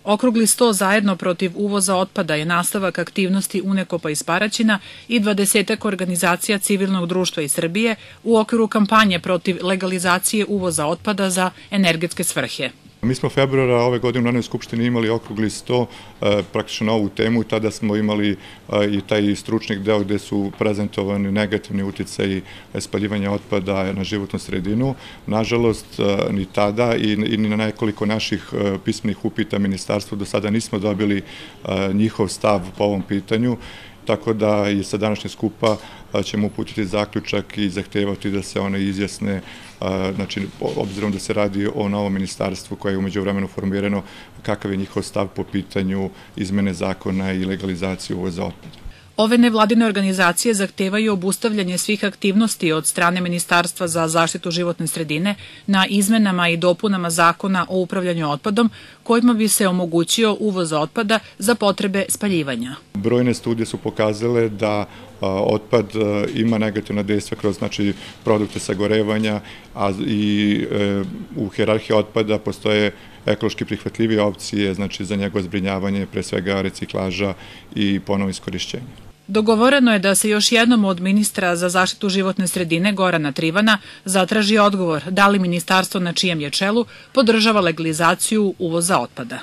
Okrugli sto zajedno protiv uvoza otpada je nastavak aktivnosti UNEKOP-a iz Paraćina i 20 organizacija civilnog društva iz Srbije u okviru kampanje protiv legalizacije uvoza otpada za energetske svrhe. Mi smo februara ove godine u Narodnoj skupštini imali okrugli sto praktično na ovu temu. Tada smo imali i taj stručni deo gde su prezentovani negativni uticaji spaljivanja otpada na životnu sredinu. Nažalost, ni tada i ni na nekoliko naših pismenih upita ministarstvu do sada nismo dobili njihov stav po ovom pitanju. Tako da i sa današnjeg skupa ćemo uputiti zaključak i zahtevati da se one izjasne, znači obzirom da se radi o novom ministarstvu koje je umeđu vremenu formirano, kakav je njihov stav po pitanju izmene zakona i legalizacije uvoza otpada. Ove nevladine organizacije zahtevaju obustavljanje svih aktivnosti od strane Ministarstva za zaštitu životne sredine na izmenama i dopunama zakona o upravljanju otpadom, kojima bi se omogućio uvoz otpada za potrebe spaljivanja. Brojne studije su pokazale da otpad ima negativna dejstva kroz produkte sagorevanja, a i u hijerarhiji otpada postoje ekološki prihvatljivije opcije, znači za njegovo zbrinjavanje, pre svega reciklaža i ponovno iskorišćenje. Dogovoreno je da se još jednom od ministra za zaštitu životne sredine Gorana Trivana zatraži odgovor da li ministarstvo na čijem je čelu podržava legalizaciju uvoza otpada.